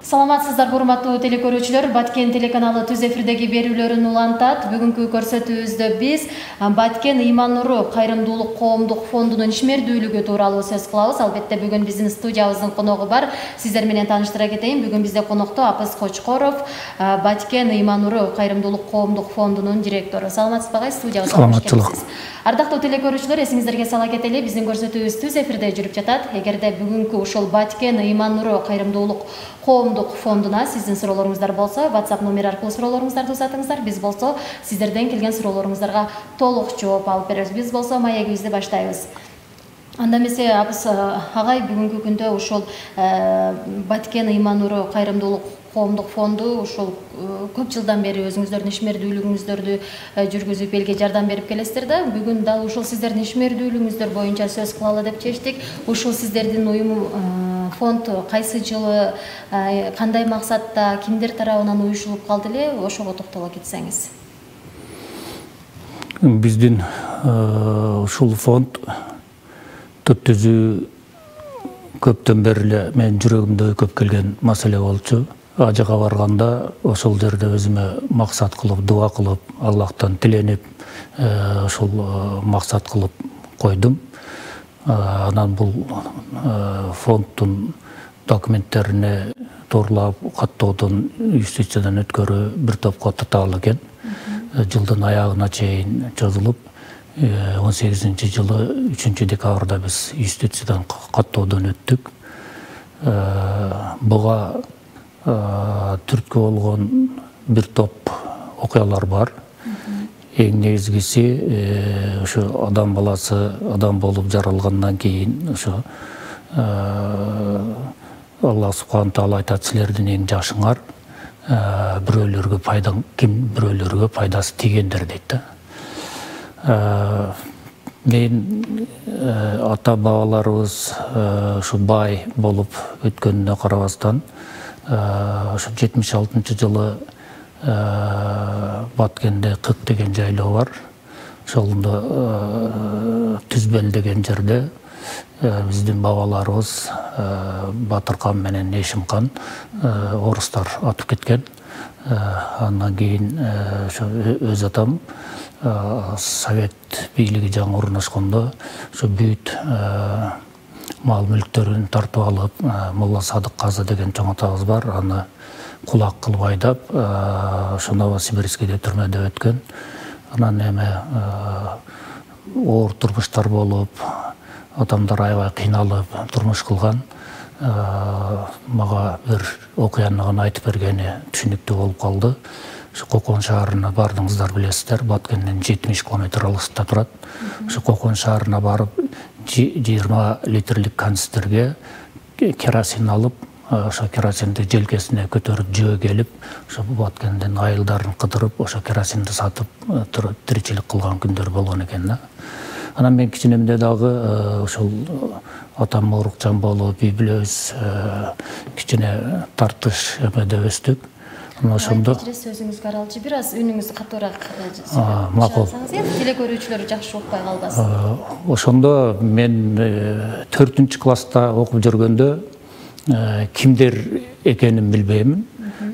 Саламатсыздар, урматтуу телекөрүүчүлөр. Баткен телеканалы түз эфирдеги берүүлөрүн улантат. Бүгүнкү көрсөтүүбүздө биз Баткен Ыйман Нуру кайрымдуулук коомдук фондунун ишмердүүлүгү тууралуу сөз кылабыз. Албетте бүгүн биздин студиябыздын коногу бар. Сиздер менен тааныштыра кетейин. Бүгүн бизде конокто Апыс Кочкоров, Баткен Ыйман Нуру кайрымдуулук коомдук фондунун директору. Саламатсызбы агай? Студиябызга кош келипсиз. Ардактуу телекөрүүчүлөр, эсиңиздерге сала кетели, биздин көрсөтүүбүз түз эфирде жүрүп жатат. Эгерде бүгүнкү ушул Баткен Ыйман Нуру кайрымдуулук коомдук фондуна сиздин суроолоруңуздар болсо, WhatsApp номер аркылуу суроолоруңуздарды узатыңыздар. Биз болсо сиздерден келген суроолоруңуздарга толук жооп алып беребиз. Биз болсо маегибизди баштайбыз. Анда эмесе, Апыс агай, бүгүнкү күндө ушул Баткен Ыйман Нуру кайрымдуулук коомдук фонду ушул көп жылдан бери өзүңүздөрдүн ишмердүүлүгүңүздөрдү жүргүзүп элге жардам берип келесиздер да. Бүгүн дал ушул сиздердин ишмердүүлүгүңүздөр боюнча сөз кылалы деп чечтик. Ушул сиздердин уюм фонд кайсы жылы, кандай максатта, кимдер тарабынан уюшулуп калды эле, ошого токтоло кетсеңиз. Биздин ушул фонд түзүү көптөн бери эле менин жүрөгүмдө көп келген маселе болчу. Ажыга барганда ошол жерде өзүмө максат кылып, дуа кылып, Аллахтан тиленип, ошол максат кылып койдум. Анан бул фонддун документтерине туурлап каттоодон, юстициядан өткөрүү бир топко татаал экен. Жылдын аягына чейин чозулуп, 18-жылы 3-декабрда биз юстициядан каттоодон өттүк. Буга түрткү болгон бир топ окуялар бар. Эң негизгиси ошо адам баласы адам болуп жаралгандан кийин ошо Аллах субхана таала айтат: силердин эң жашыңар бирөөлөргө бирөөлөргө пайдасы тийгендер дейт да. Мен ата бабаларыбыз ушу бай болуп өткөнүнө карабастан, ошо 76-жылы Баткенде Кык деген жайлоо бар. Ошолдо Түзбел деген жерде биздин бабаларыбыз Батыркан менен Эшимкан орустар атып кеткен. Андан кийин ошо өз атам Совет бийлиги жаңы орношкондо ошо бүт мал мүлктөрүн тартып алып, Молла Садык Казы деген чоң атабыз бар, аны кулак кылып айдап, ошо Новосибирскийде түрмөдө өткөн. Анан эме оор турмуштар болуп, адамдар аябай кыйналып турмуш кылган. Мага бир окуяны гана айтып бергени түшүнүктүү болуп калды. Ошо Кокон шаарына бардыңыздар, билесиздер, Баткенден 70 километр алыстыкта турат. Ошо Кокон шаарына барып 20 литрлик канистрге керосин алып, ошо керосинди желкесине көтөрүп жөө келип, ошо Баткенден айылдарын кыдырып, ошо керосинди сатып тиричилик кылган күндөр болгон экен да. Анан мен кичинемде дагы ошол атам оорукчан болуп, үй бүлөбүз кичине тартыш эмеде өстүк. Ошондо сөзүңүзгө аралчы, бир аз үнүңүздү катуураак чыгарсаңыз, телекөрүүчүлөр жакшы укпай калбасын. Ошондо мен 4-класста окуп жүргөндө кимдер экенин билбеймин.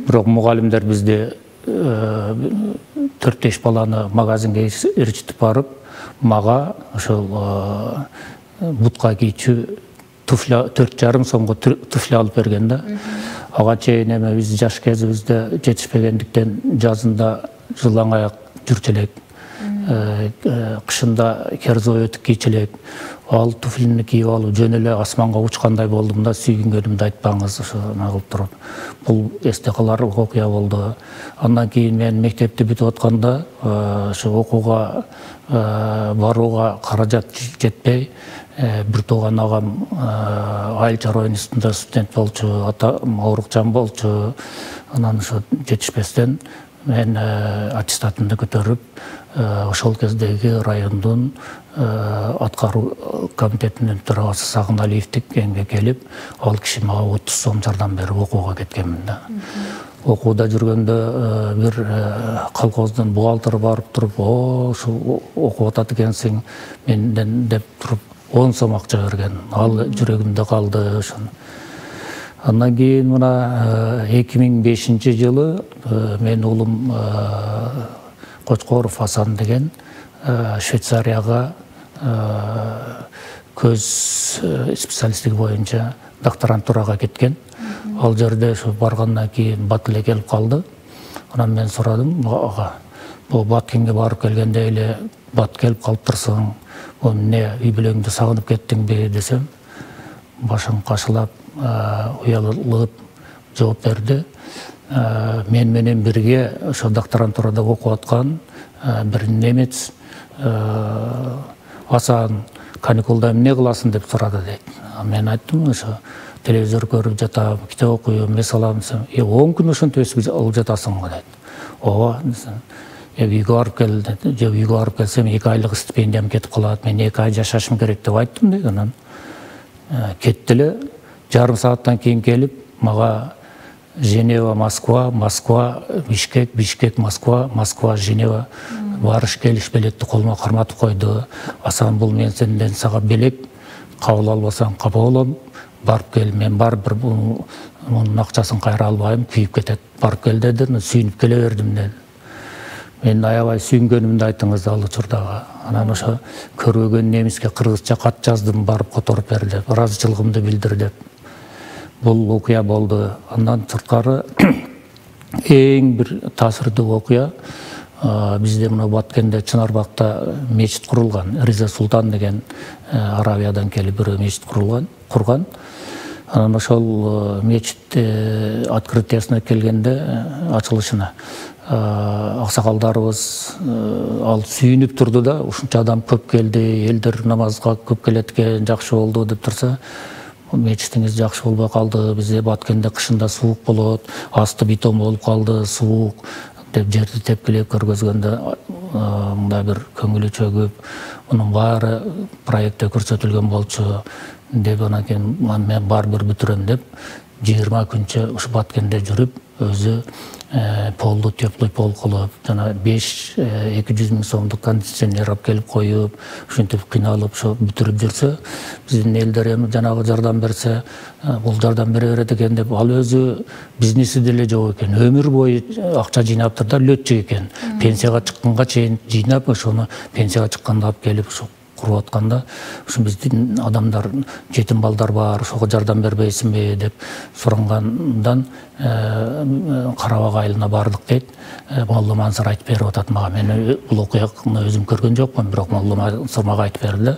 Бирок мугалимдер бизде 4-5 баланы магазинге ээрчитип барып, мага ошол бутка кийчү туфля 4,5 сомго туфля алып берген да. Ага чейин эме биз жаш кезибизде жетишпегендиктен жазында жылаң аяк жүрчү элек, кышында керзой өтүк кийчү элек. Ал туфлини кийип алып жөн эле асманга учкандай болдум да, сүйгүнгөнүмдү айтпаңыз, ошо кылып туруп. Бул эсте каларлык окуя болду. Андан кийин мен мектепти бүтүп атканда ошо окууга барууга каражат жетпей, бир тууган агам айыл чарба институтунда студент болчу, атам оорукчан болчу. Анан ошо жетишпестен мен аттестатымды көтөрүп, ошол кездеги райондун аткаруу комитетинин төрагасы Сагыналиевдин эмге келип, ал киши мага 30 сом жардам берип окууга кеткенмин да. Окууда жүргөндө бир колхоздун бухгалтери барып туруп, ушул окуп атат экенсиң менден деп туруп 10 сом акча берген. Ал жүрөгүмдө калды. Андан кийин мына 2005 жылы мен уулум Кочкоров Асан деген Швейцарияга көз специалисттиги боюнча докторантурага кеткен. Ал жерде ошо баргандан кийин бат эле келип калды. Анан мен сурадым, бул Баткенге барып келгенде эле бат келип калыптырсың, бул эмне үй бүлөңдү сагынып кеттиңби десем, башын кашылап, уялып жооп берди. Мен менен бирге ошо докторантурада окуп аткан бир немец Асан каникулда эмне кыласың деп сурады дейт. Мен айттым, ошо телевизор көрүп жатам, китеп окуйм, эмес алам десем, 10 күн ошентип өсүп алып жатасыңбы дейт. Ооба десем, үйгө барып кел дейт. Же үйгө барып келсем 2 айлык стипендиям кетип калат, мен 2 ай жашашым керек деп айттым дейт. Анан кетти эле. Жарым сааттан кийин келип, мага Женева, Москва, Москва, Бишкек, Бишкек, Москва, Москва, Женева барыш келиш билетти колума карматып койду. Асан, бул мен сенден сага белек, кабыл албасаң капа болом, барып кел. Мен барып мунун акчасын кайра албайм, күйүп кетет. Барып кел деди, сүйүнүп келе бердим деди. Мен аябай сүйүнгөнүмдү айттыңыз ал учурдагы. Анан ошо көрбөгөн немиске кыргызча кат жаздым, барып которуп бер деп, ыраазычылыгымды билдир деп. Бул окуя болду. Андан сырткары эң бир таасирдүү окуя бизде мына Баткенде Чынарбакта мечит курулган. Риза Султан деген Аравиядан келип бирөө мечит курган. Анан ошол мечит открытиясына келгенде, ачылышына, аксакалдарыбыз ал сүйүнүп турду да, ушунча адам көп келди, элдер намазга көп келет экен, жакшы болду деп турса, мечитиңиз жакшы болбой калды, бизде Баткенде кышында суук болот, асты бетон болуп калды, суук деп жерди тепкилеп көргөзгөндө мындай бир көңүлү чөгүп, мунун баары проектте көрсөтүлгөн болчу деп, анан кийин мен барыбир бүтүрөм деп 20 күнчө ушу Баткенде жүрүп, өзү полду теплый пол кылып, жана 200 миң сомдук кондиционер алып келип коюп, ушинтип кыйналып ошо бүтүрүп жүрсө, биздин элдер эми жанагы жардам берсе, бул жардам бере берет экен деп, ал өзү бизнеси деле жок экен. Өмүр бою акча жыйнаптыр да, летчик экен. Пенсияга чыкканга чейин жыйнап, ошону пенсияга чыкканда алып келип ушу куруп атканда, ушу биздин адамдар, жетим балдар бар, ошого жардам бербейсиңби деп сурангандан Карабак айылына бардык дейт. Молла Мансыр айтып берип атат мага. Мен бул окуяны өзүм көргөн жокмун, бирок Молла Мансыр мага айтып берди.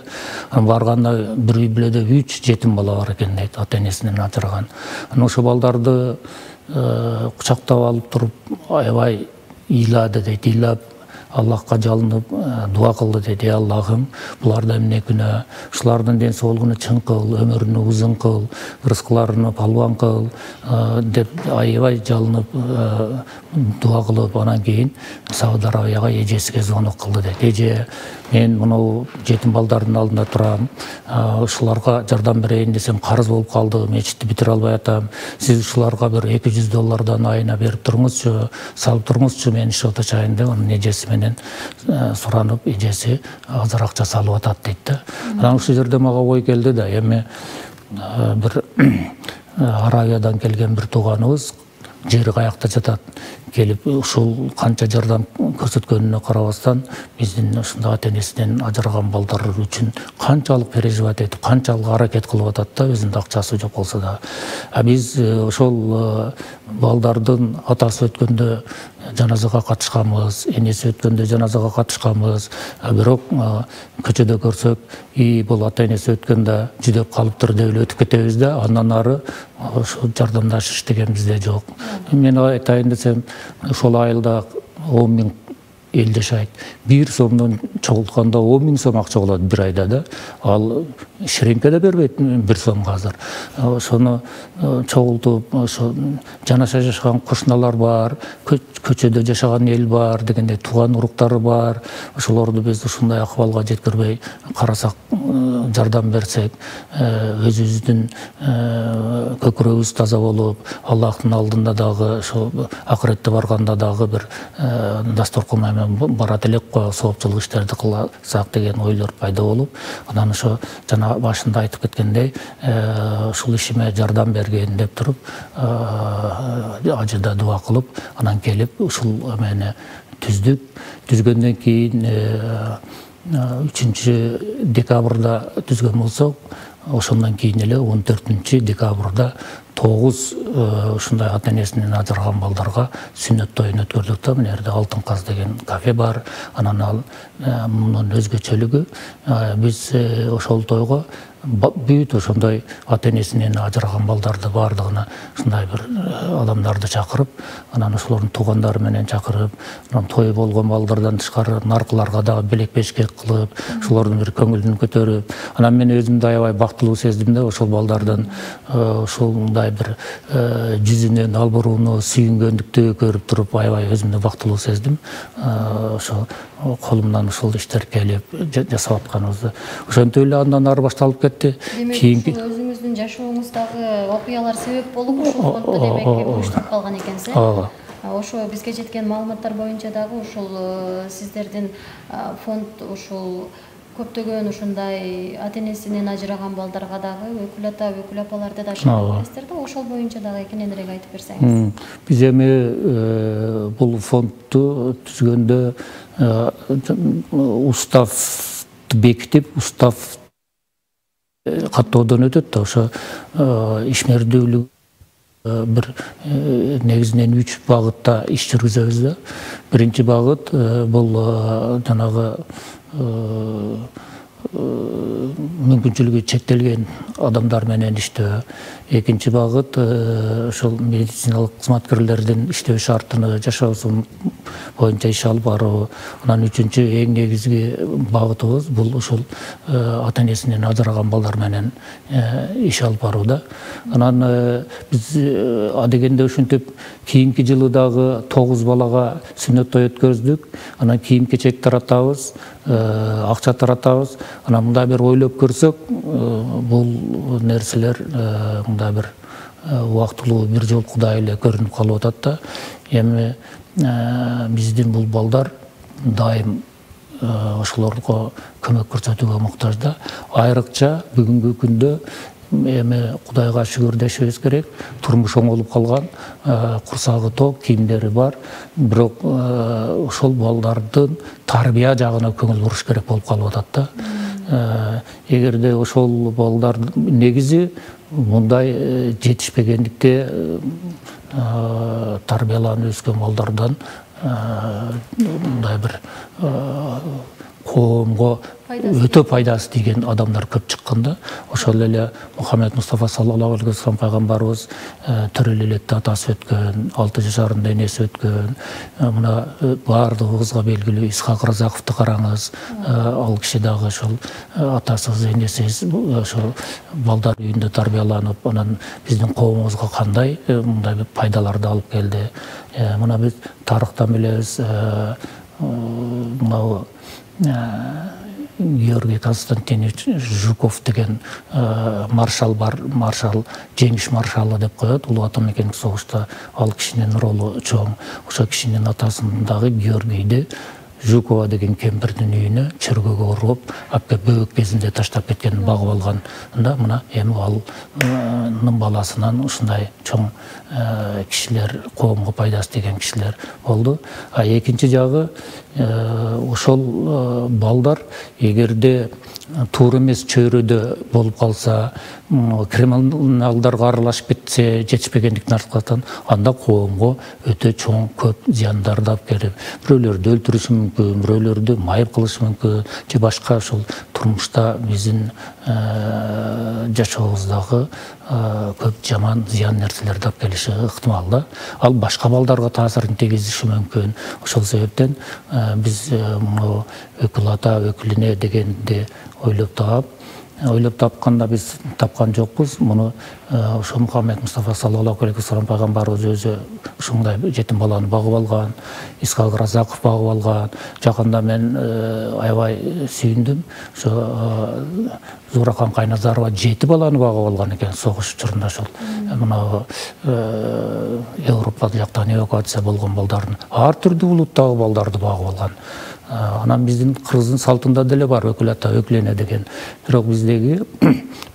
Барганда бир үй бүлөдө 3 жетим бала бар экен дейт, ата энесинен ажыраган. Анан ошо балдарды кучактап алып туруп, аябай ыйлады дейт, ыйлап Аллахка жалынып дуа кылды дейт. Аллахым, буларда эмне күнөө, ушулардын ден соолугуна чың кыл, өмүрүнү узун кыл, рызкыларына палван кыл деп аябай жалынып дуа кылып, анан кийин Сауд Арабияга эжесиге звонок кылды дейт. Эже, мен мынау жетим балдардын алдында турам, ушуларга жардам берейин десем карыз болуп калды, мечитти бүтүрө албай атам. Сиз ушуларга бир $200 айына берип туруңузчу, салып туруңузчу, мен иши отачайын деп, анын эжеси менен суранып, эжеси азыр акча салып атат дейт да. Анан ушул жерде мага ой келди да, эми бир Аравиядан келген бир тууганыбыз жери каякта жатат, келип ушул канча жардам көрсөткөнүнө карабастан, биздин ушундай ата энесинен ажыраган балдар үчүн канчалык переживать этип, канчалык аракет кылып атат да, өзүнүн акчасы жок болсо да. Биз ошол балдардын атасы өткөндө жаназага катышканбыз, энеси өткөндө жаназага катышканбыз. Бирок көчөдө көрсөк, бул ата энеси өткөндө жүдөп калыптыр деп эле өтүп кетебиз да, андан ары ошо жардамдашыш деген бизде жок. Мен айтайын десем, ошол айылда 10 миң эл жашайт. 1 сомдон чогултканда 10 миң сом акча болот бир айда да. Ал ширинке да бербейт 1 сомго азыр. Ошону чогултуп, ошо жанаша жашаган кошуналар бар, көчөдө жашаган эл бар дегенде, тууган уруктары бар. Ошолорду биз ушундай акыбалга жеткирбей карасак жардам берсек, өзүбүздүн көкүрөгүбүз таза болуп, Аллахтын алдында дагы, ошо акыретте барганда дагы бир дасторкон менен барат элек го, соопчулук иштерди кылсак деген ойлор пайда болуп, анан ошо жана башында айтып кеткендей, ушул ишиме жардам бергин деп туруп, ажыда дуа кылып, анан келип ушул эмени түздүк. Түзгөндөн кийин 3 декабрда түзгөн болсок, ошондон кийин эле 14 декабрда 9 ушундай ата-энесинен ажыраган балдарга сүннөт тоюн өткөрдүк да. Мына жерде Алтын Каз деген кафе бар. Анан ал мунун өзгөчөлүгү, биз ошол тойго бүт ошондой ата-энесинен ажыраган балдарды баардыгына ушундай бир адамдарды чакырып, анан ошолордун туугандары менен чакырып, анан той болгон балдардан тышкары наркыларга дагы белек-бешкек кылып, ошолордун бир көңүлүн көтөрүп, анан мен өзүмдү аябай бактылуу сездим да, ошол балдардын ушундай бир жүзүнөн албырууну, сүйүнгөндүктү көрүп туруп аябай өзүмдү бактылуу сездим. Ошо колумдан ушул иштер келип жасап атканыбызды. Ошентип эле андан ары башталып кетти. Кийинки өзүңүздүн жашооңуздагы окуялар себеп болуп ушул фондду демек уюштуруп калган экенсиз. Ошо бизге жеткен маалыматтар боюнча дагы ушул сиздердин фонд ушул көптөгөн ушундай ата-энесинен ажыраган балдарга дагы өкүл ата, өкүл апаларды да чакырасыздар да, ошол боюнча дагы кененирээк айтып берсеңиз. Биз эми бул фондду түзгөндө уставды бекитип, устав каттоодон өтөт да, ошо ишмердүүлүк бир негизинен 3 багытта иш жүргүзөбүз да. Биринчи багыт бул жанагы мүмкүнчүлүгү чектелген адамдар менен иштөө. Экинчи багыт ошол медициналык кызматкерлердин иштөө шартыны, жашоосу боюнча иш алып баруу. Анан үчүнчү эң негизги багытыбыз бул ушул ата-энесинен ажыраган балдар менен иш алып барууда. Анан биз адегенде ушинтип кийинки жылы дагы 9 балага сүннөт той өткөздүк. Анан кийим-кечек таратабыз, акча таратабыз. Анан мындай бир ойлоп көрсөк, бул нерселер мындай бир убактылуу бир жолкудай эле көрүнүп калып атат да. Эми биздин бул балдар дайым ошолорго көмөк көрсөтүүгө муктаж да. Айрыкча бүгүнкү күндө эми Кудайга шүгүр дешибиз керек. Турмуш оңолуп калган, курсагы ток, кийимдери бар. Бирок ошол балдардын тарбия жагына көңүл буруш керек болуп калып атат да. Эгерде ошол балдар негизи мындай жетишпегендикте тарбияланып өскөн балдардан мындай бир коомго өтө пайдасы тийген адамдар көп чыкканда. Ошол эле Мухаммед Мустафа саллаллаху алейхи вассалам пайгамбарыбыз төрөлүү электе атасы өткөн, 6 жашарында энеси өткөн. Мына баардыгыбызга белгилүү Исхак Разаковду караңыз. Ал киши дагы ошол атасыз, энесиз ошол балдар үйүндө тарбияланып, анан биздин коомубузга кандай мындай пайдаларды алып келди. Мына биз тарыхтан билебиз, мына Георгий Константинович Жуков деген маршал бар, маршал, жеңиш маршалы деп коет. Улуу Ата мекендик согушта ал кишинин ролу чоң. Ошо кишинин атасындагы Георгийди Жукова деген кемпирдин үйүнө чөргөгө уруп, апка бөөк кезинде таштап кеткен, багып алган. Мына эми алнын баласынан ушундай чоң кишилер, коомго пайдасы тийген кишилер болду. Экинчи жагы ошол балдар эгерде туура эмес чөйрөдө болуп калса, криминалдарга аралашып кетсе, жетишпегендиктин аркасынан, анда коомго өтө чоң көп зыяндарды алып келип, бирөөлөрдү өлтүрүшү мүмкүн, бирөөлөрдү майып кылышы мүмкүн, же башка ошол турмушта биздин жашообуздагы көп жаман зыян нерселерди алып келиши ыктымал да. Ал башка балдарга таасирин тийгизиши мүмкүн. Ошол себептен биз өкүл ата, өкүл эне дегенди ойлоп таап, ойлоп тапканда биз тапкан жокпуз. Муну ошо Мухаммед Мустафа саллаллаху алейхи вассалам пайгамбарыбыз өзү ушундай жетим баланы багып алган, Исхак Разаков багып алган. Жакында мен аябай сүйүндүм. Ошо Зурахан Кайназарова 7 баланы багып алган экен согуш учурунда. Ошол мына Европа жактан эвакуация болгон балдардын ар түрдүү улуттагы балдарды багып алган. Анан биздин Кыргыздын салтында деле бар өкүл ата өкүлене деген. Бирок биздеги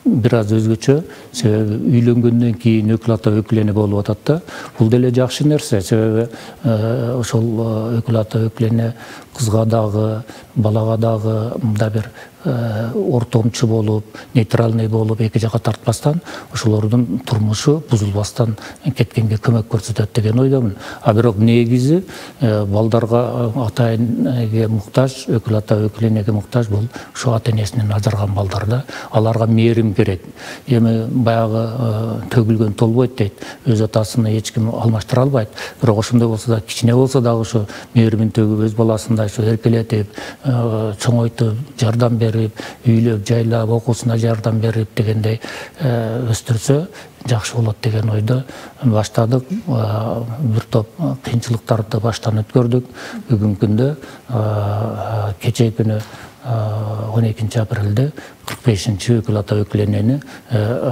бир аз өзгөчө, себеби үйлөнгөндөн кийин өкүл ата өкүлене болуп атат да. Бул деле жакшы нерсе, себеби ошол өкүл ата өкүлене кызга дагы, балага дагы мындай бир ортомчу болуп, нейтральный болуп, эки жака тартпастан ошолордун турмушу бузулбастан кеткенге көмөк көрсөтөт деген ойдомун. А бирок негизи балдарга ата-энеге муктаж, өкүл ата өкүленеге муктаж бул ушу ата-энесинен ажыраган балдар да. Аларга мээрим керек. Эми баягы төгүлгөн толбойт дейт. Өз атасын эч ким алмаштыра албайт. Бирок ошондой болсо да, кичине болсо дагы ошо мээримин төгүп, өз баласындай ошо эркелетип, чоңойтуп, жардам берип, үйлөп, жайлап, окуусуна жардам берип дегендей өстүрсө жакшы болот деген ойдо баштадык. Бир топ кыйынчылыктарды баштан өткөрдүк. Бүгүнкү күндө кечээ күнү 12 апрелде 45-чи өкүл ата өкүленени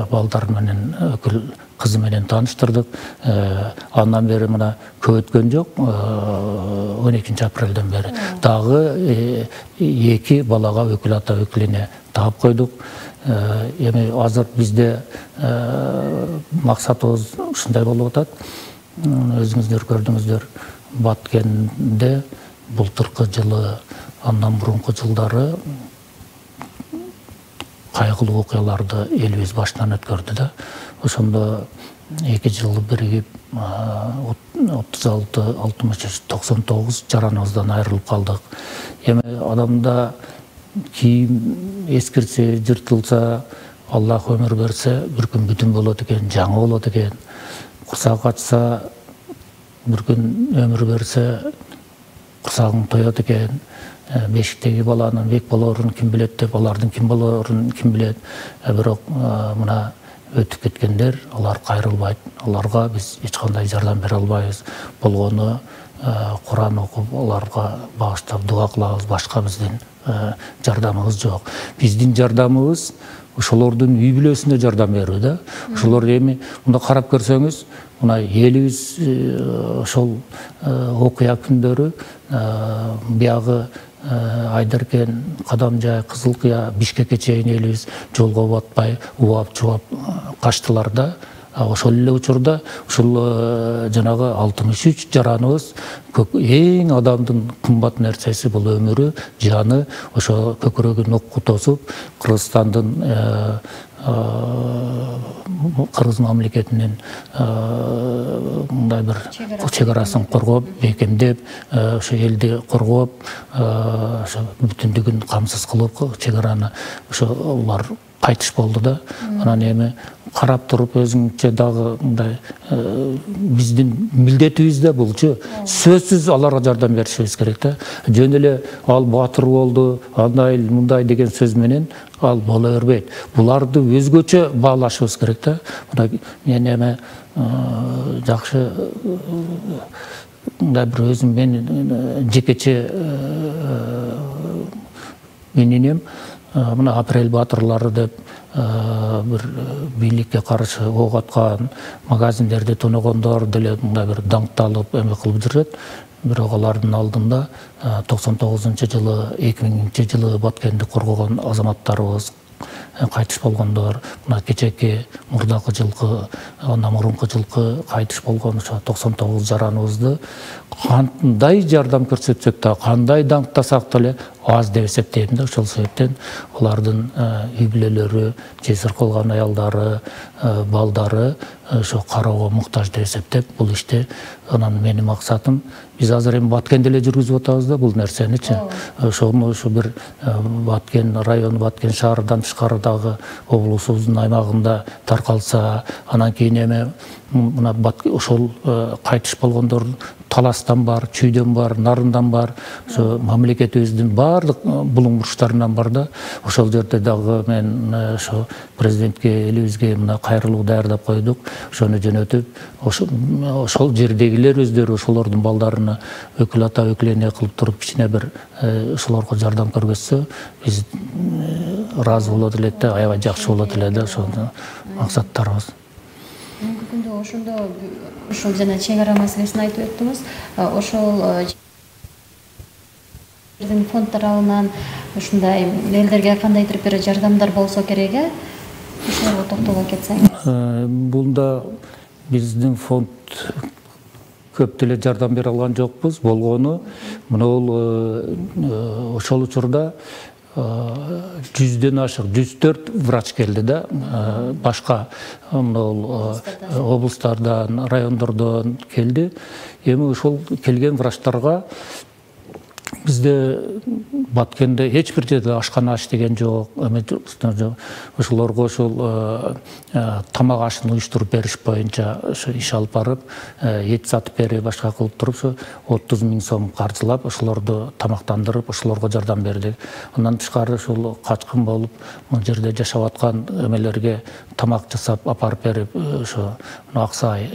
балдар менен өкүл кызы менен тааныштырдык. Андан бери мына көп өткөн жок. 12 апрелден бери дагы 2 балага өкүл ата өкүлене таап койдук. Эми азыр бизде максатыбыз ушундай болуп атат. Өзүңүздөр көрдүңүздөр, Баткенде былтыркы жылы, андан мурунку жылдары кайгылуу окуяларды элибиз башынан өткөрдү да. Ошондо 2 жыл биригип 36, 63, 99 жараныбыздан айрылып калдык. Эми адамда кийим эскирсе, жыртылса, Аллах өмүр берсе, бир күн бүтүн болот экен, жаңы болот экен. Курсак ачса, бир күн өмүр берсе, курсагың тоет экен. Бешиктеги баланын бек болоорун ким билет деп, алардын ким болоорун ким билет. Бирок мына өтүп кеткендер, алар кайрылбайт. Аларга биз эч кандай жардам бере албайбыз. Болгону Куран окуп, аларга багыштап дуа кылабыз. Башка биздин жардамыбыз жок. Биздин жардамыбыз ошолордун үй бүлөсүнө жардам берүү да. Ошолор эми мында карап көрсөңүз, мына элибиз ошол окуя күндөрү биягы Айдаркен, Кадамжай, Кызылкыя, Бишкекке чейин элибиз жолго батпай, убап, чубап качтылар да. Ошол эле учурда ушул жанагы 63 жараныбыз эң адамдын кымбат нерсеси бул өмүрү, жаны, ошо көкүрөгүн окко тосуп, Кыргызстандын Кыргыз мамлекетинин мындай бир чегарасын коргоп, бекемдеп, ошо элди коргоп, ошо бүтүндүгүн камсыз кылып чегараны ошо улар кайтыш болду да. Анан эми карап туруп өзүңчө дагы мындай биздин милдетибиз да булчу. Сөзсүз аларга жардам беришибиз керек да. Жөн эле ал батыр болду, андай мындай деген сөз менен ал боло бербейт. Буларды өзгөчө баалашыбыз керек да. Мына мен эми жакшы мындай бир өзүм мен жекече мененем. Мына Апрель батырлары деп бир бийликке каршы ок аткан, магазиндерди тоногондор деле мындай бир даңкталып эме кылып жүрөт. Бирок алардын алдында 99-жылы, 2000-жылы Баткенди коргогон азаматтарыбыз кайтыш болгондор, мына кечээки мурдакы жылкы, андан мурунку жылкы кайтыш болгон ошо 99 жараныбызды кандай жардам көрсөтсөк да, кандай даңктасак деле аз деп эсептейм да. Ошол себептен алардын үй бүлөлөрү, жесир калган аялдары, балдары ошо кароого муктаж деп эсептеп, бул ишти анан менин максатым биз азыр эми Баткенде эле жүргүзүп атабыз да бул нерсеничи. Ошону ошо бир Баткен району, Баткен шаардан тышкарыдагы облусубуздун аймагында таркалса, анан кийин эми мына ошол кайтыш болгондор таластан бар, чүйдөн бар, нарындан бар, ошо мамлекетибиздин баардык булуң бурчтарынан бар да. Ошол жерде дагы мен ошо президентке, элибизге мына кайрылуу даярдап койдук. Ошону жөнөтүп, ошол жердегилер өздөрү ошолордун балдарына өкүл ата өкүлөне кылып туруп кичине бир ошолорго жардам көргөзсө, биз ыраазы болот элек да, аябай жакшы болот эле да, ошол максаттарыбыз. Бүгүнкү күндө ошондо ушул жана чек ара маселесин айтып өттүңүз. Ошол фонд тарабынан ушундай элдерге кандайдыр бир жардамдар болсо керек, ошолорго токтоло кетсеңиз. Бунда биздин фонд көп деле жардам бере алган жокпуз. Болгону мына ошол учурда 100ден ашык 104 врач келди да, башка облустардан, райондордон келди. Эми ошол келген врачтарга бизде Баткенде эч бир жерде ашкана иштеген жок. Ошолорго ошол тамак ашын уюштуруп бериш боюнча ошо иш алып барып, эт сатып берип, башка кылып туруп, ошо 30 000 сом каржылап, ошолорду тамактандырып, ошолорго жардам бердик. Андан тышкары ошол качкын болуп, бул жерде жашап аткан эмелерге тамак жасап апарып берип, ошо Аксай,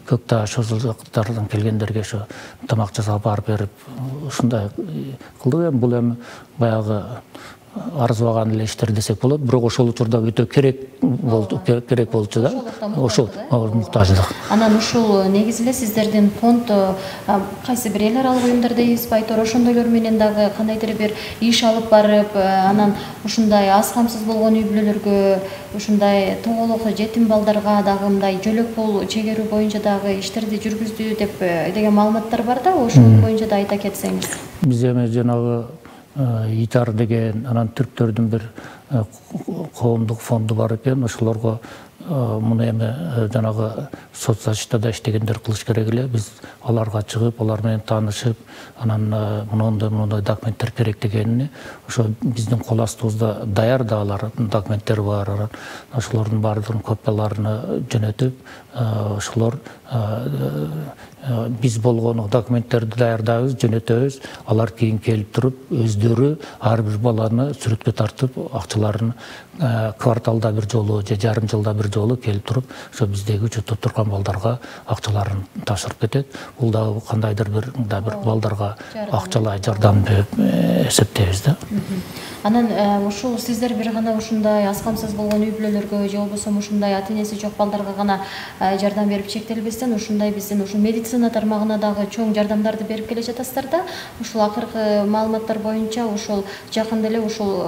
Көкташ, ошол жактардан келгендерге ошо тамак жасап апарып берип, ушундай кылдык. Бул эми баягы арзыбаган эле иштер десек болот, бирок ошол учурда өтө керек болчу да. Ошол муктаждык. Анан ушул негизи эле сиздердин фонд кайсы бир эл аралык уюмдар дейбиз, байтор ошондойлор менен дагы кандайдыр бир иш алып барып, анан ушундай аз камсыз болгон үй бүлөлөргө, ушундай тоголок жетим балдарга дагы мындай жөлөк пул чегерүү боюнча дагы иштерди жүргүздү деп деген маалыматтар бар да, ошол боюнча да айта кетсеңиз. Биз эми жанагы ИТАР деген анан түрктөрдүн бир коомдук фонду бар экен. Ошолорго муну эми жанагы соцзащитада иштегендер кылыш керек эле. Биз аларга чыгып, алар менен таанышып, анан мындай документтер керек дегенини ошо биздин кол астыбызда даяр да алар документтер бар. Ошолордун баардыгын копияларын жөнөтүп, ошолор биз болгону документтерди даярдайбыз, жөнөтөбүз. Алар кийин келип туруп, өздөрү ар бир баланы сүрөткө тартып, акчаларын кварталда бир жолу же жарым жылда бир жолу келип туруп, ошо биздеги учурда турган балдарга акчаларын тапшырып кетет. Бул дагы кандайдыр бир балдарга акчалай жардам деп эсептейбиз да. Анан ушул сиздер бир гана ушундай аз камсыз болгон үй бүлөлөргө же болбосо ушундай ата энеси жок балдарга гана жардам берип чектелбестен, ушундай биздин ушул медицина тармагына дагы чоң жардамдарды берип келе жатасыздар да. Ушул акыркы маалыматтар боюнча ушул жакында эле ушул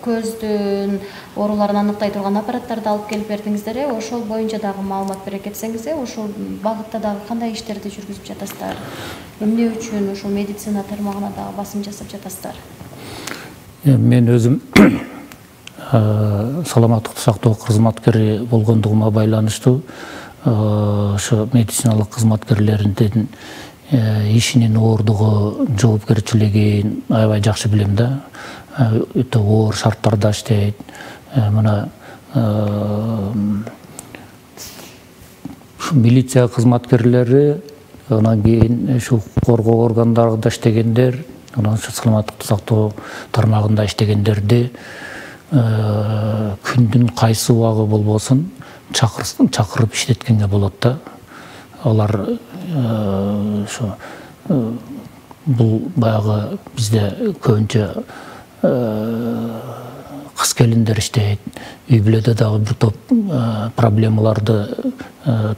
көздүн ооруларын аныктай турган аппараттарды алып келип бердиңиздер. Ошол боюнча дагы маалымат бере кетсеңиз, ушул багытта дагы кандай иштерди жүргүзүп жатасыздар? Эмне үчүн ушул медицина тармагына дагы басым жасап жатасыздар? Мен өзүм саламаттыкты сактоо кызматкери болгондугума байланыштуу ошо медициналык кызматкерлердин ишинин оордугу, жоопкерчилигин аябай жакшы билем да. Өтө оор шарттарда иштейт. Мына милиция кызматкерлери, анан кийин ушул коргоо органдарында иштегендер, анан саламаттыкты сактоо тармагында иштегендерди күндүн кайсы убагы болбосун чакырып иштеткенге болот да. Алар ошо бул баягы бизде көбүнчө кыз келиндер иштейт. Үй бүлөдө дагы бир топ проблемаларды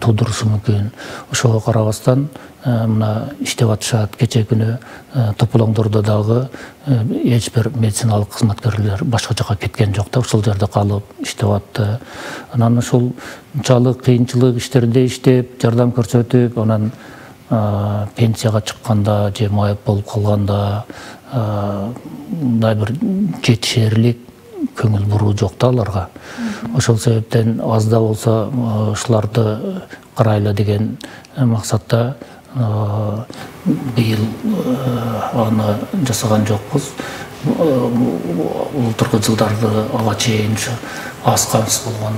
туудурушу мүмкүн. Ошого карабастан мына иштеп атышат. Кече күнү Тополоңдордо дагы эч бир медициналык кызматкерлер башка жака кеткен жок да, ушул жерде калып иштеп атты. Анан ушунчалык кыйынчылык иштерде иштеп, жардам көрсөтүп, анан пенсияга чыкканда же майып болуп калганда мындай бир жетишерлик көңүл буруу жок да аларга. Ошол себептен аз да болсо ушуларды карайлы деген максатта быйыл аны жасаган жокпуз. Былтыркы жылдарды ага чейин ушу аз камсыз болгон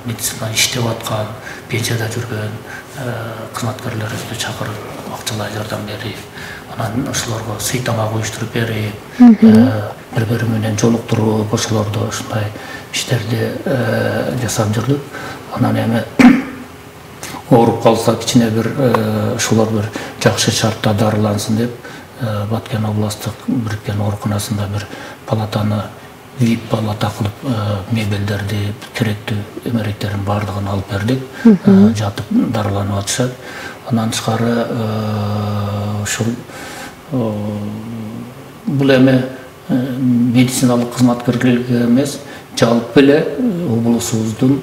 медицинада иштеп аткан, пенсияда жүргөн кызматкерлерибизди чакырып акчалай жардам берип, анан ошолорго сый тамак уюштуруп берип, бири бири менен жолуктуруп, ошолорду ушундай иштерди жасап жүрдүк. Анан эми ооруп калса кичине бир ошолор бир жакшы шартта дарылансын деп Баткен областтык бириккен ооруканасында бир палатаны VIP палата кылып мебелдерди, керектүү эмеректердин баардыгын алып бердик. Жатып дарыланып атышат. Андан тышкары ушул бул эми медициналык кызматкерлерге эмес, жалпы эле облусубуздун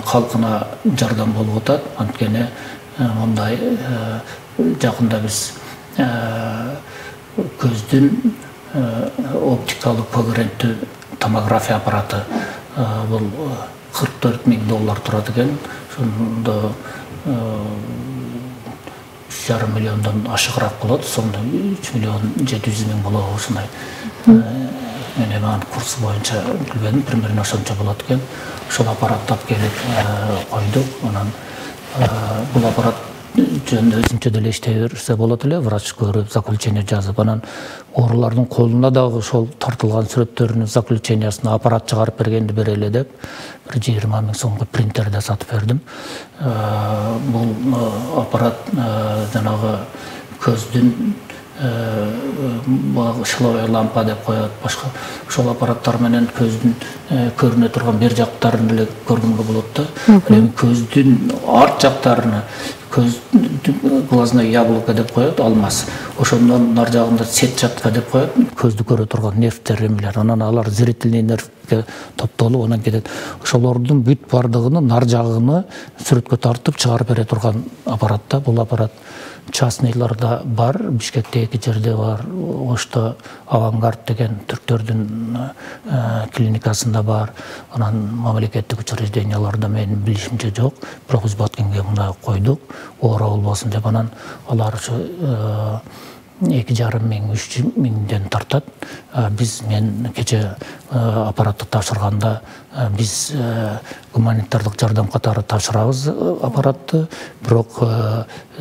калкына жардам болуп атат. Анткени мындай жакында биз көздүн оптикалык когеренттүү томография аппараты бул $44,000 турат экен. Ошондо 3,5 миллиондон ашыгыраак болот. Сонда 3,7 миллион болобу ушундай. Мен эми анын курсу боюнча билбедим, примерно ошончо болот экен. Ошол аппаратты алып келип койдук. Анан бул аппарат жөн өзүнчө деле иштей берсе болот эле, врач көрүп, заключение жазып, анан оорулардын колуна дагы ошол тартылган сүрөттөрүнүн заключениясын аппарат чыгарып бергенди берели деп, бир 20 000 сомго принтерде сатып бердим. Бул аппарат жанагы көздүн шловая лампа деп коет, башка ошол аппараттар менен көздүн көрүнө турган бер жактарын эле көргөнгө болот да. Эми көздүн арт жактарына көз глазная яблоко деп коет, алмаз. Ошондон нар жагында сетчатка деп коет, көздү көрө турган нервтер эмелер. Анан алар зрительный нервге топтолуп анан кетет. Ошолордун бүт бардыгын нар жагыны сүрөткө тартып чыгарып бере турган аппарат да. Бул аппарат частныйларда бар, Бишкекте 2 жерде бар, Ошто Авангард деген түрктөрдүн клиникасында бар. Анан мамлекеттик учрежденияларда менин билишимче жок, бирок биз Баткенге мына койдук, оора болбосун деп. Анан алар ушу 2,5 миң, 3 миңден тартат. Мен кече аппаратты тапшырганда биз гуманитардык жардам катары тапшырабыз аппаратты, бирок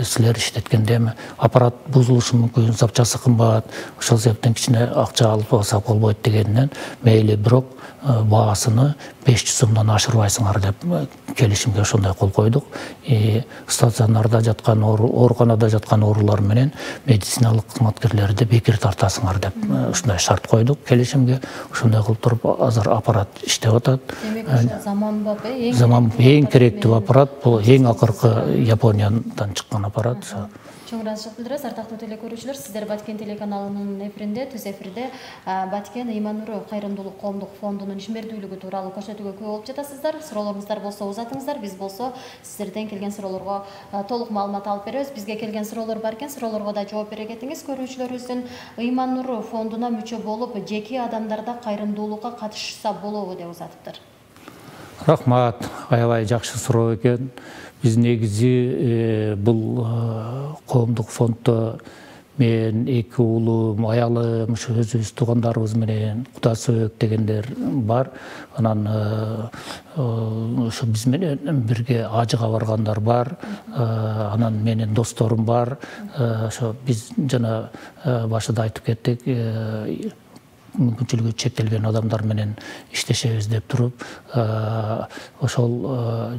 силер иштеткенде эми аппарат бузулушу мүмкүн, запчасы кымбат, ошол себептен кичине акча алып алсак болбойт дегенден мейли, бирок баасыны 500 сомдон ашырбайсыңар деп келишимге ошондой кол койдук. Стационарда жаткан ооруканада жаткан оорулар менен медициналык кызматкерлерди бекер тартасыңар деп ушундай шарт койдук келишимге. Ошондой кылып туруп азыр аппарат иштеп атат. Демек заманбап, эң керектүү аппарат, бул эң акыркы Япониядан чыккан аппарат. Чоң ыраазычылык билдиребиз. Ардактуу телекөрүүчүлөр, сиздер Баткен телеканалынын эфиринде, түз эфирде Баткен Ыйман Нуру кайрымдуулук коомдук фондунун ишмердүүлүгү тууралуу көрсөтүүгө күбө болуп жатасыздар. Суроолоруңуздар болсо узатыңыздар, биз болсо сиздерден келген суроолорго толук маалымат алып беребиз. Бизге келген суроолор бар экен, суроолорго да жооп бере кетиңиз. Көрүүчүлөрүбүздүн Ыйман Нуру фондуна мүчө болуп, жеке адамдарда кайрымдуулукка катышса болобу деп узатыптыр. Рахмат, аябай жакшы суроо экен. Биз негизи бул коомдук фонддо мен, 2 уулум, аялым, ушу өзүбүз туугандарыбыз менен Куда Сөбөк дегендер бар. Анан ошо биз менен бирге ажыга баргандар бар. Анан менин досторум бар. Ошо биз жана башында айтып кеттик, мүмкүнчүлүгү чектелген адамдар менен иштешебиз деп туруп, ошол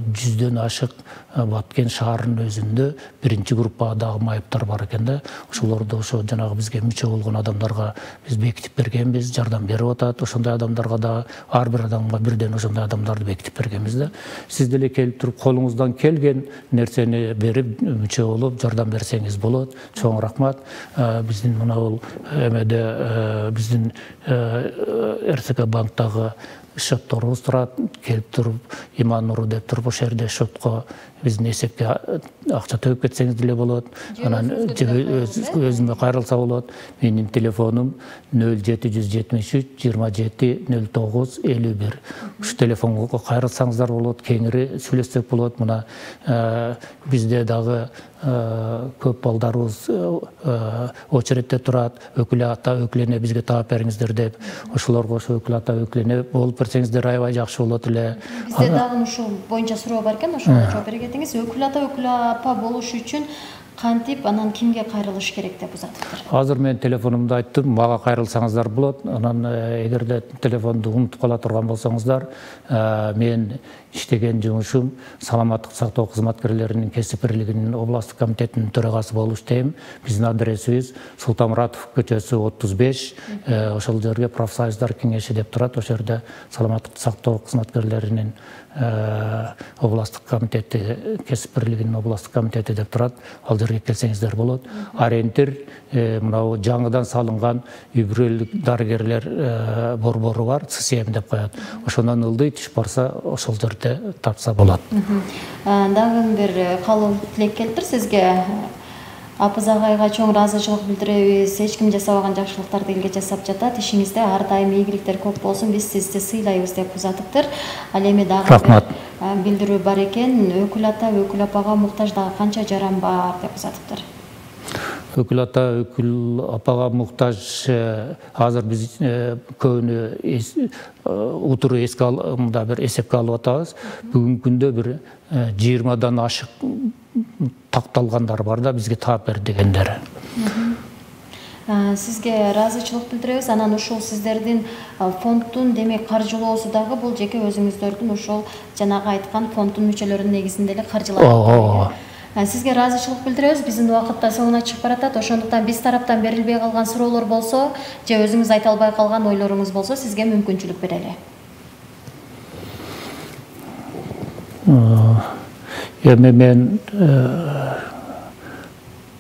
100дөн ашык Баткен шаарынын өзүндө 1-чи группадагы майыптар бар экен да. Ошолорду ошо жанагы бизге мүчө болгон адамдарга биз бекитип бергенбиз, жардам берип атат. Ошондой адамдарга да ар бир адамга бирден ошондой адамдарды бекитип бергенбиз да. Сиз деле келип туруп колуңуздан келген нерсени берип мүчө болуп жардам берсеңиз болот. Чоң рахмат. Биздин мына бул эмеде биздин РСК банктагы счетторубуз турат, келип туруп Ыйман Нуру деп туруп ошол жерде счетко биздин эсепке акча төгүп кетсеңиз деле болот. Анан өзүмө кайрылса болот. Менин телефонум 0773 27 09 51. Ушу телефонго кайрылсаңыздар болот, кеңири сүйлөшсөк болот. Мына бизде дагы көп балдарыбыз очередте турат, өкүл ата, өкүлене бизге таап бериңиздер деп. Ошолорго ошо өкүл ата, өкүлене болуп берсеңиздер аябай жакшы болот эле. Бизде дагы ушул боюнча суроо бар экен, ошого жооп бере кетиңиз. Өкүл ата, өкүл апа болуш үчүн Кантип анан кимге кайрылыш керек деп узатыптыр? Азыр мен телефонумду айттым, мага кайрылсаңыздар болот. Анан эгерде телефонду унутуп кала турган болсоңуздар, мен иштеген жумушум саламаттык сактоо кызматкерлеринин кесип бирлигинин областтык комитетинин төрагасы болуп иштейм. Биздин адресибиз Султанмуратов көчөсү 35. Ошол жерге профсоюздар кеңеши деп турат. Ошол жерде саламаттык сактоо кызматкерлеринин областтык комитети, кесип бирлигинин областтык комитети деп турат. Ал жерге келсеңиздер болот. Ориентир мынау жаңыдан салынган үй бүлөлүк дарыгерлер борбору бар, ЦСМ деп коет. Ошондон ылдый түш барса, ошол жерде тапса болот. Дагы бир калуу тилек келиптир сизге. Апыз агайга чоң ыраазычылык билдиребиз. Эч ким жасабаган жакшылыктарды элге жасап жатат. Ишиңизде ар дайым ийгиликтер көп болсун. Биз сизди сыйлайбыз деп узатыптыр. Ал эми дагы билдирүү бар экен. Өкүл ата, өкүл апага муктаж дагы канча жаран бар деп узатыптыр. Өкүл ата, өкүл апага муктаж азыр биз көбүнө утуру мында бир эсепке алып атабыз. Бүгүнкү күндө бир 20дан ашык такталгандар бар да, бизге таап бер дегендер. Сизге ыраазычылык билдиребиз. Анан ушул сиздердин фонддун демек каржылоосу дагы бул жеке өзүңүздөрдүн ушул жанагы айткан фонддун мүчөлөрүнүн негизинде эле каржыланат. Сизге ыраазычылык билдиребиз. Биздин убакыт да соңуна чыгып баратат. Ошондуктан биз тараптан берилбей калган суроолор болсо, же өзүңүз айта албай калган ойлоруңуз болсо, сизге мүмкүнчүлүк берели. Эми мен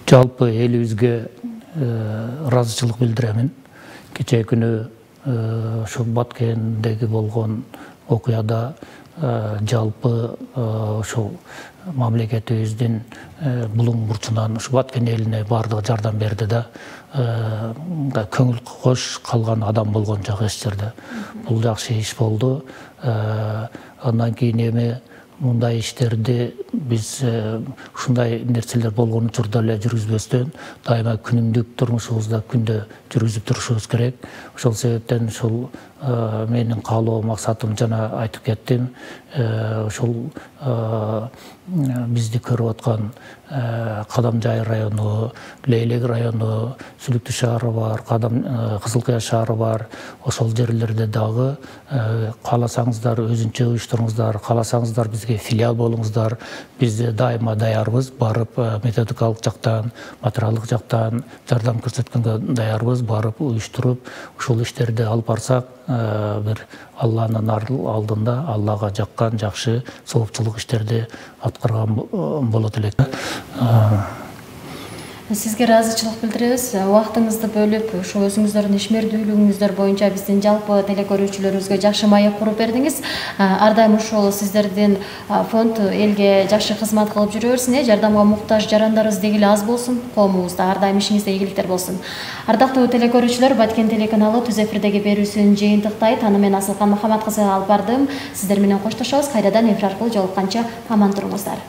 жалпы элибизге ыраазычылык билдиремин. Кечээ күнү ошо Баткендеги болгон окуяда жалпы ошол мамлекетибиздин булуң бурчунан ушу Баткен элине баардыгы жардам берди да, көңүл кош калган адам болгон жок эч жерде. Бул жакшы иш болду. Андан кийин эми мындай иштерди биз ушундай нерселер болгон учурда эле жүргүзбөстөн дайыма күнүмдүк турмушубузда күндө жүргүзүп турушубуз керек. Ошол себептен ушул менин каалоо максатым жана айтып кеттим. Ошол бизди көрүп аткан Кадамжай району, Лейлек району, Сүлүктүү шаары бар, Кызыл Кыя шаары бар. Ошол жерлерде дагы кааласаңыздар өзүнчө уюштуруңуздар, кааласаңыздар бизге филиал болуңуздар. Биз дайыма даярбыз, барып методикалык жактан, материалдык жактан жардам көрсөткөнгө даярбыз, барып уюштуруп, ушул иштерди алып барсак, бир Алланын алдында Аллага жаккан жакшы соопчулук иштерди аткарган болот элек. Сизге ыраазычылык билдиребиз. Убактыңызды бөлүп, ушу өзүңүздөрдүн ишмердүүлүгүңүздөр боюнча биздин жалпы телекөрүүчүлөрүбүзгө жакшы маек куруп бердиңиз. Ар дайым ушул сиздердин фонд элге жакшы кызмат кылып жүрө берсин. Жардамга муктаж жарандарыбыз дегиле аз болсун, коомубузда ар дайым ишиңизде ийгиликтер болсун. Ардактуу телекөрүүчүлөр, Баткен телеканалы түз эфирдеги берүүсүн жыйынтыктайт. Аны мен Асылкан Мухаммад кызы алып бардым. Сиздер менен коштошобуз. Кайрадан эфир аркылуу жолукканча аман туруңуздар.